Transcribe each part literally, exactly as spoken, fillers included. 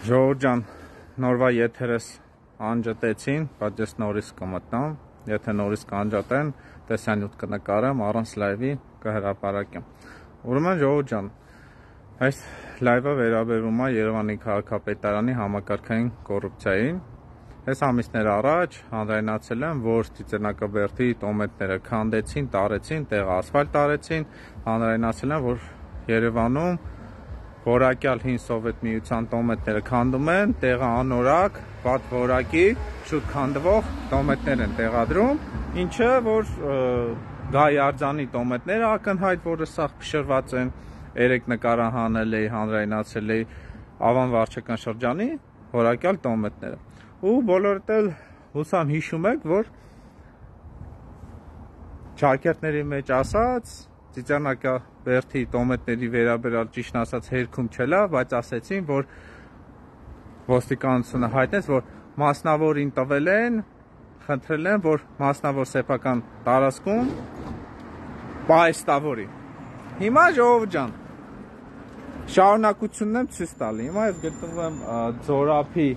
Ժողովուրդ ջան, նորվա եթերս անջատեցին, բայց ես նորից կմտնամ, եթե նորից կանջատեն, տեսանյութ կնկարեմ, առանց լայվի կհրապարակեմ։ Ուրեմն ժողովուրդ ջան, այս լայվը վերաբերում է Երևանի քաղաքապետարանի համակարգային կոռուպցիային։ Այս ամիսներ առաջ հանրայնացել եմ, որ Ծիծեռնակաբերդի տոմետները քանդեցին, տարեցին, տեղը ասֆալտ տարեցին, հանրայնացել եմ, որ Երևանում որակյալ հին Սովետ միության տոմետները քանդում են, տեղը անորակ, վատ որակի, շուտ քանդվող տոմետներ են տեղադրում, ինչը որ Գայ Արձանի տոմետները ակնհայտ, որը սաղ փշրված են, երեք նկարահանել էի, հանրայնացել էի Ավան վարչական շրջանի որակյալ տոմետները։ Ու բոլորդ էլ հուսամ հիշում եք, որ ճակերտների մեջ ասած Ծիծեռնակաբերդի տոմետների վերաբերյալ ճիշտ ասած հերքում չելա, բայց ասեցին, որ ոստիկանությունը հայտնեց, որ մասնավորին տվել են, խնդրել են, որ մասնավոր սեփական տարածքում պահեստավորի։ Հիմա ժողովուրդ ջան, շարունակությունն եմ ցույց տալի։ Հիմա ես գտնվում եմ Ձորափի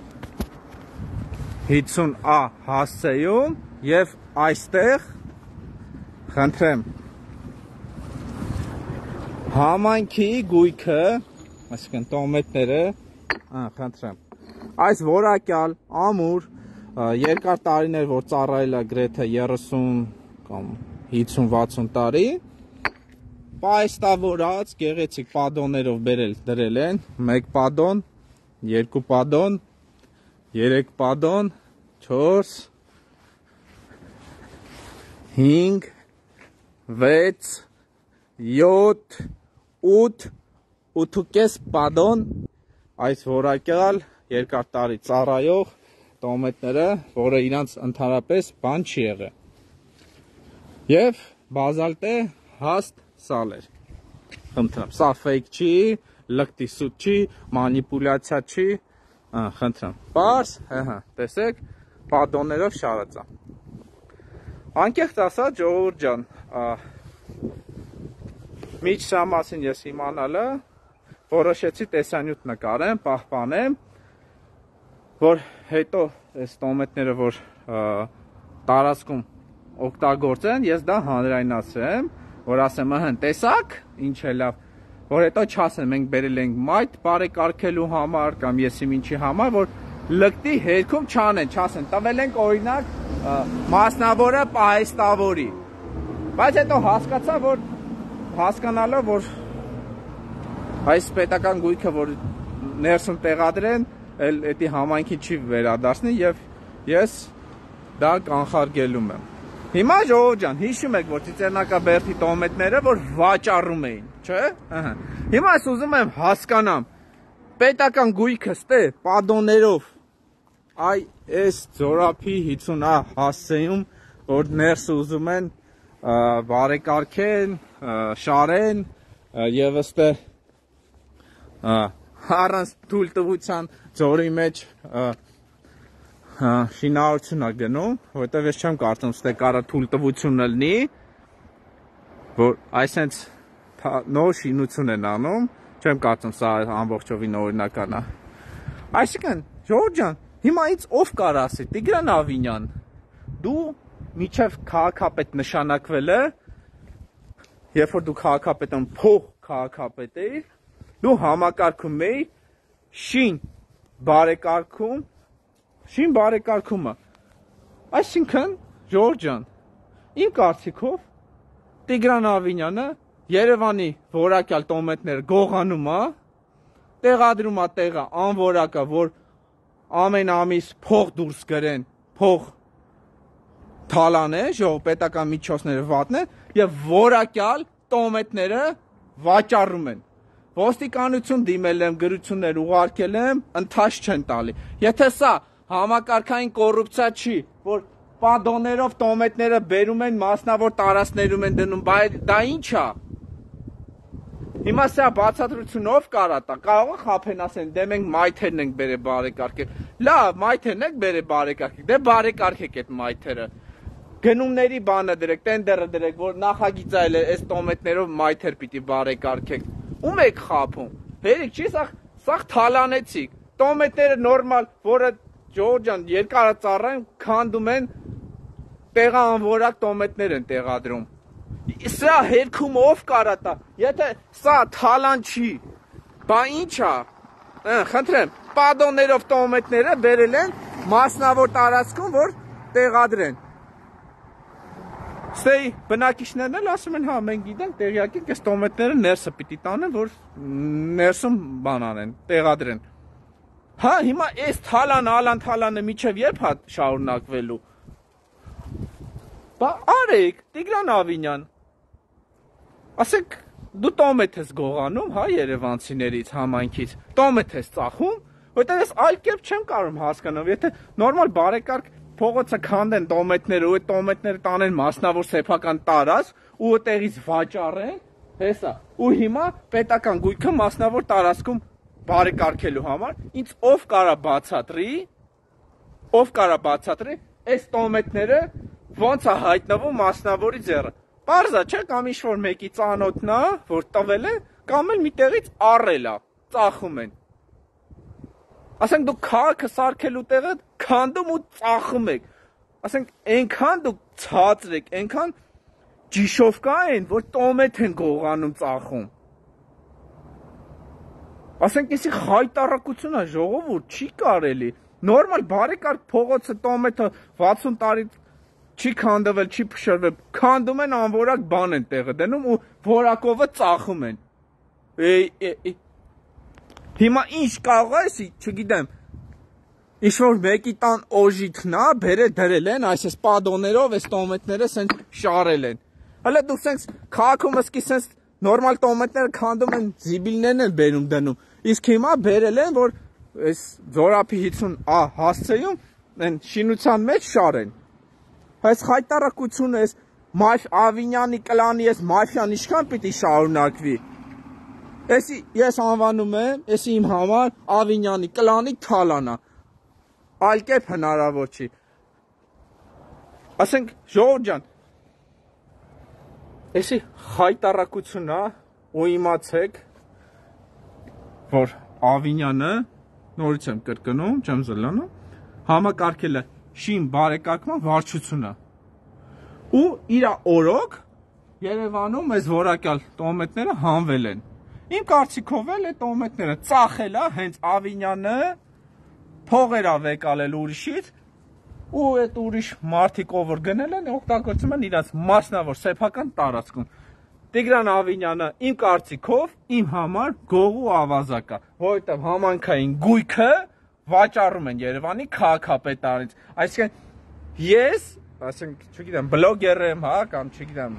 հիսուն ա հասցեում եւ այստեղ խնդրեմ համայնքի գույքը, այսինքն տոմետները, խնդրեմ, այս որակյալ, ամուր, երկար տարիներ, որ ծառայել է գրեթե երեսուն կամ հիսուն վաթսուն տարի, պահեստավորած, գեղեցիկ պադոններով բերել դրել են, մեկ պադոն, երկու պադոն, երեք պադոն, չորս, հինգ, վեց, յոթ, ութ, ութուկես պադոն, այս որակյալ երկար տարի ծառայող տոմետները, որը իրանց ընդհանրապես բան չի եղել։ Եվ բազալտե հաստ սալեր։ Խնդրեմ, սա ֆեյք չի, լկտի սուտ չի, մանիպուլյացիա չի, խնդրեմ, պարզ, հհ, տեսեք, պադոններով շարած է։ Անկեղծ ասած, ժողովուրդ ջան, միջ սա մասին ես իմանալը, որոշեցի տեսանյութ նկարեմ, պահպանեմ, որ հետո այս տոմետները, որ տարածքում օգտագործեն, ես դա հանրայնացրեմ, որ ասեմ, ըհն, տեսակ, ինչ է լավ, որ հետո չասեն, մենք բերել ենք մայթ բարեկարգելու համար, կամ եսիմ ինչի համար, որ լկտի հերքում չանեն, չասեն, տվել ենք օրինակ մասնավորը պահեստավորի, բայց հետո հասկացա, որ հասկանալը, որ այս պետական գույքը, որ ներսում տեղադրեն, էլ էդի համայնքի չի վերադարձնի և ես դա կանխարգելում եմ։ Հիմա ժողովուրդ ջան, հիշում եք, որ Ծիծեռնակաբերդի տոմետները, որ վաճառում էին, չէ՞։ Հիմա ես ուզում եմ հասկանամ, պետական գույքը ստե պադոններով, այ այս Ձորափի հիսուն ա հասցեում, որ ներսը ուզում են բարեկարգեն, շարեն և ըստե առանց թույլտվության ձորի մեջ շինարարություն է գնում, որտեղ ես չեմ կարծում ստե կարա թույլտվություն լինի, որ այսենց նոր շինություն են անում, չեմ կարծում սա ամբողջովին օրինական է։ Այսինքն, ժողովուրդ ջան, հիմա ինձ ով կար ասի, Տիգրան Ավինյան, դու մինչև քաղաքապետ նշանակվելը, երբ որ դու քաղաքապետն փող քաղաքապետ էիր, դու համակարգում էիր շին բարեկարգում, շին բարեկարգումը։ Այսինքն, ժողովուրդ ջան, իմ կարծիքով Տիգրան Ավինյանը Երևանի որակյալ տոմետները գողանում է, տեղադրում է տեղը անորակը, որ ամեն ամիս փող դուրս գրեն, փող թալան է, պետական միջոցները վատն են, և որակյալ տոմետները վաճառում են։ Ոստիկանություն դիմել եմ, գրություններ ուղարկել եմ, ընթաց չեն տալի։ Եթե սա համակարգային կոռուպցիա չի, որ պադոններով տոմետները բերում են, մասնավոր տարածքներում են դնում, դա ինչ է։ Հիմա սա բացատրությունով կարա տա, կարող է խաբեն ասեն, դե մենք մայթերն ենք բերել բարեկարգել։ Լավ, մայթերն եք բերել բարեկարգել, դե բարեկարգեք այդ մայթերը։ Գնումների բանը դրեք, տենդերը դրեք, որ նախագիծ այլ է, այս տոմետներով մայթեր պիտի բարեկարգեք։ Ում եք խաբում։ Բերեք, չի սաղ թալանեցիք, տոմետները նորմալ, որը Ջորջան երկարածառան քանդում են տեղանվորակ տոմետներ են տեղադրում։ Սա հերքում ով կարա տա։ Եթե սա թալան չի, բա ի՞նչ է։ Խնդրեմ, պադոններով տոմետները բերել են մասնավոր տարածքում, որ տեղադրեն։ Ստեի բնակիչներն էլ ասում են, հա, մենք գիտենք, տեղյակ ենք, այս տոմետները ներսը պիտի տանեն, որ ներսում բան անեն, տեղադրեն։ Հա, հիմա այս թալան, ալան թալանը միջև երբ հա շարունակվելու։ Բա արեք, Տիգրան Ավինյան։ Ասեք, դու տոմետ ես գողանում, հա, երևանցիներից, համայնքից, տոմետ ես ծախում, որտեղ ես այլ կերպ չեմ կարող հասկանալ, եթե նորմալ բարեկարգ փողոցը քանդեն տոմետները, ու այդ տոմետները տանեն մասնավոր սեփական տարածք, ու այդտեղից վաճառեն, հեսա, ու հիմա պետական գույքը մասնավոր տարածքում բարեկարգելու համար, ինձ ով կարա բացատրի, ով կարա բացատրի, այս տոմետները ոնց է հայտնվում մասնավորի ձեռը։ Պարզա չէ, կամ ինչ-որ մեկի ծանոթն է, որ տվել է, կամ էլ մի տեղից առել է, ծախում են։ Ասենք դուք քաղաքը սարքելու տեղը քանդում ու ծախում եք։ Ասենք այնքան դուք ցածր եք, այնքան ջիշովկա են, որ տոմետ են գողանում ծախում։ Ասենք էսի խայտարակություն է, ժողովուրդ, չի կարելի։ Նորմալ բարեկարգ փողոցը տոմետը վաթսուն տարի չի քանդվել, չի փշրվել, քանդում են անորակ բան են տեղը դնում ու որակովը ծախում են։ Հիմա ինչ կարող է էսի, չգիտեմ, ինչ-որ մեկի տան օժիթն է, բերել դրել են, այս պադոներով, այս տոմետները սենց շարել են։ Հələ դուք սենց քաղաքում ըսկի սենց նորմալ տոմետները քանդում են, զիբիլներն են բերում դնում, իսկ հիմա բերել են, որ այս Զորափի հիսուն ա հասցեում են շինության մեջ շարեն։ Այս խայտարակությունը, այս մաֆ Ավինյանի կլանի, այս մաֆիան ինչքան պիտի շարունակվի։ Էսի ես անվանում եմ, էսի իմ համար Ավինյանի կլանի թալանա։ Այլ կերպ հնարավոր չի։ Ասենք ժողովուրդ ջան, էսի խայտարակությունն է, ու իմացեք, որ Ավինյանը, նորից եմ կրկնում, չեմ զլանում, համակարգել է շին բարեկարգման վարչությունը։ Ու իր օրոք Երևանում այս որակյալ տոմետները հանվել են։ Իմ կարծիքով էլ է տոմետները ծախել է հենց Ավինյանը, փողեր է վեկալել ուրիշից, ու այդ ուրիշ մարդիկ ով որ գնել են, օգտագործում են իրաց մասնավոր սեփական տարածքում։ Տիգրան Ավինյանը իմ կարծիքով իմ համար գողու ավազակ է, որովհետև համանքային գույքը վաճառում են Երևանի քաղաքապետարանից։ Այսինքն ես, ասենք, չգիտեմ, բլոգեր եմ, հա, կամ չգիտեմ,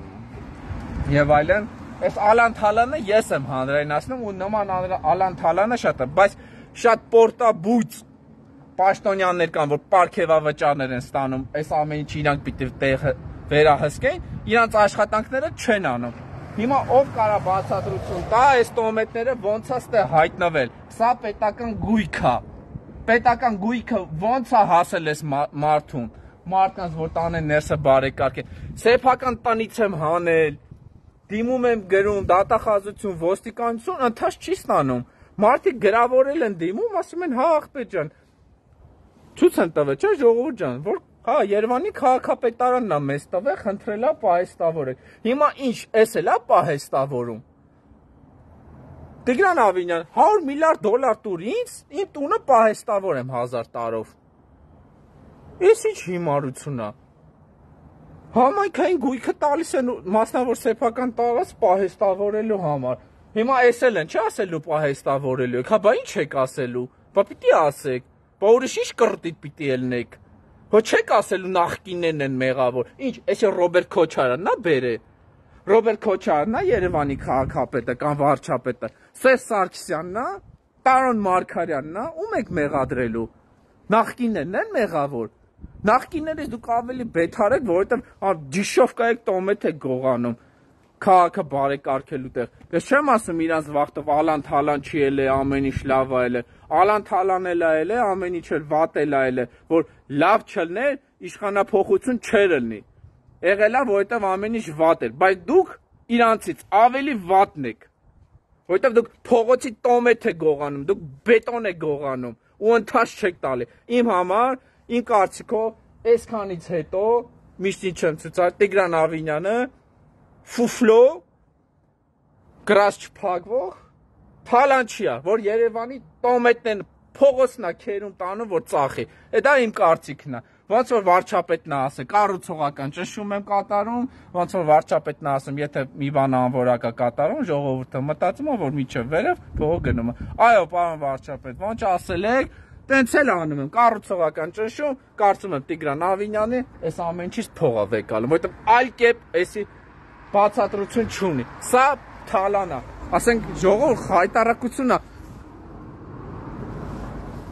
եւ այլն, այս Ալան Թալանը ես եմ հանրայնացնում ու նման Ալան Թալանը շատ է, բայց շատ պորտաբույծ պաշտոնյաներ կան, որ պարգևավճարներ են ստանում, այս ամեն ինչ իրանք պիտի տեղը վերահսկեն, իրանց աշխատանքները չեն անում։ Հիմա ով կարա բացատրություն տա, այս տոմետները ոնց է ստե հայտնվել։ Սա պետական գույք է։ Պետական գույքը ոնց է հասել այս մարդուն։ Մարդկանց որ տանեն ներսը բարեկարգեն։ Սեփական տնից եմ հանել։ Դիմում եմ գրում դատախազություն, ոստիկանություն, ընթաց չի ստանում։ Մարդիկ գրավորել են դիմում, ասում են, հա աղբեր ջան, ցույց են տվել, չէ՞ ժողովուրդ ջան, որ հա Երևանի քաղաքապետարանն է մեզ տվել, խնդրելա պահեստավորեք։ Հիմա ինչ, էս էլա պահեստավորում։ Տիգրան Ավինյան, հարյուր միլիարդ դոլար տուր ինձ, իմ տունը պահեստավորեմ հազար տարով։ Էս ինչ հիմարություն է։ Համայնքային գույքը տալիս են մասնավոր սեփական տարածք պահեստավորելու համար։ Հիմա էս էլ են, չէ՞ ասելու պահեստավորելու եք, հա բա ինչ եք ասելու։ Բա պիտի ասեք, բա ուրիշ ինչ կրտիտ պիտի ելնեք։ Հո չեք ասելու նախկիններն են մեղավոր։ Ինչ, էսի Ռոբերտ Քոչարյանն է բերե։ Ռոբերտ Քոչարյանն է Երևանի քաղաքապետը կամ վարչապետը։ Սերժ Սարգսյանն է, Տարոն Մարգարյանն է, ում եք մեղադրելու։ Նախկիններն են մեղավոր։ Նախկիններից դուք ավելի բեթար եք, որովհետև ջիշովկա եք տոմետ եք գողանում քաղաքը բարեկարգելու տեղ։ Ես չեմ ասում իրանց վախտով Ալան Թալան չի ելե, ամեն ինչ լավ է ելե։ Ալան Թալան էլ է ելե, ամեն ինչ էլ վատ էլ է ելե, որ լավ չլներ, իշխանափոխություն չէր լինի։ Եղել է, որովհետև ամեն ինչ վատ էր, բայց դուք իրանցից ավելի վատն եք։ Որովհետև դուք փողոցի տոմետ եք գողանում, դուք բետոն եք գողանում, ու ընթաց չեք տալի։ Իմ համար, իմ կարծիքով, այսքանից հետո միշտ ինչ եմ ցույցարել Տիգրան Ավինյանը ֆուֆլո գրած չփակվող թալանչիա, որ Երևանի տոմետն փողոցնա քերում տանում, որ ծախի։ Դա իմ կարծիքն է։ Ոնց որ վարչապետն է ասել, կառուցողական ճնշում եմ կատարում, ոնց որ վարչապետն է ասում, եթե մի բան անորակ է կատարում, ժողովուրդը մտածում է, որ միջև վերև փողը գնում է։ Այո, պարոն վարչապետ, ոնց ասել եք, տենց էլ անում եմ, կառուցողական ճնշում, կարծում եմ Տիգրան Ավինյանի այս ամեն ինչից փող է վեկալում, որովհետև այլ կերպ էսի բացատրություն չունի։ Սա թալան է, ասենք ժողովուրդ հայտարարությունն է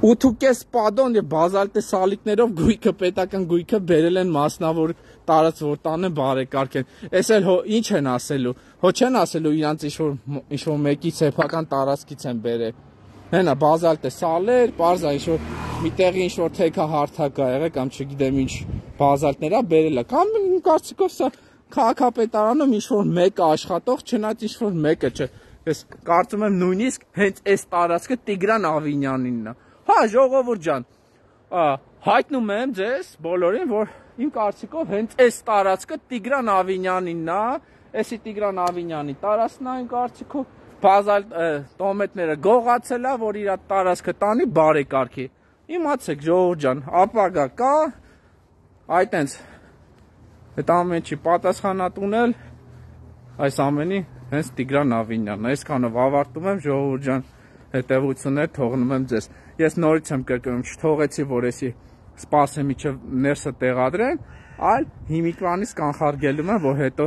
ութ ու կես պադոն եւ բազալտե սալիկներով գույքը պետական գույքը բերել են մասնավոր տարած որ տանը բարեկարգեն։ Էս էլ հո ինչ են ասելու։ Հո չեն ասելու իրանց ինչ որ ինչ որ մեկի սեփական տարածքից են բերել։ Հենա բազալտե սալեր, parza ինչ որ միտեղի ինչ որ թեքա հարթակա եղել կամ չգիտեմ ինչ բազալտներա բերել է։ Կամ կարծիքով սա քաղաքապետարանում ինչ որ մեկը աշխատող, չնայած ինչ որ մեկը չէ։ Ես կարծում եմ նույնիսկ հենց այս տարածքը Տիգրան Ավինյանինն է։ Հա, ժողովուրդ ջան, հայտնում եմ ձեզ բոլորին, որ իմ կարծիքով հենց այս տարածքը Տիգրան Ավինյանինն է, էսի Տիգրան Ավինյանի տարածքն է իմ կարծիքով, բազալ տոմետները գողացել է, որ իր տարածքը տանի բարեկարգի։ Իմացեք ժողովուրդ ջան, ապագա կա, այտենց այդ ամեն ինչի պատասխանատունել այս ամենի հենց Տիգրան Ավինյանն է։ Այսքանով ավարտում եմ ժողովուրդ ջան, հետևություններ թողնում եմ ձեզ։ Ես նորից եմ կրկնում, չթողեցի, որ էսի սպասեմ մինչև ներսը տեղադրեն, այլ հիմիկվանից կանխարգելում եմ, որ հետո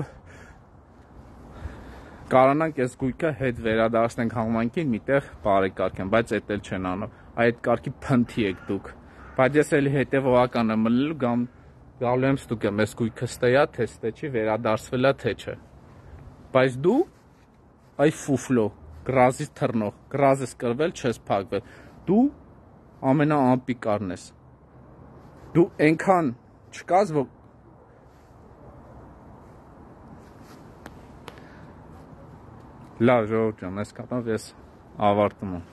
կարողանանք այս գույքը հետ վերադարձնենք համայնքին, միտեղ բարեկարգեն, բայց էդ էլ չեն անում։ Այդ կարգի փնթի եք դուք։ Բայց ես էլի հետևողական եմ մնալու, կամ գալու եմ ստուգեմ, այս գույքը ստեյա, թե ստե չի, վերադարձվել է, թե չէ։ Բայց դու այ ֆուֆլո, գրազից թռնող, գրազ ես կրվել, չես փակվել։ Դու ամենաանպիկարն ես։ Դու այնքան չկաս, որ լավ ժողովուրդ ջան, այսքանով ես ավարտում եմ։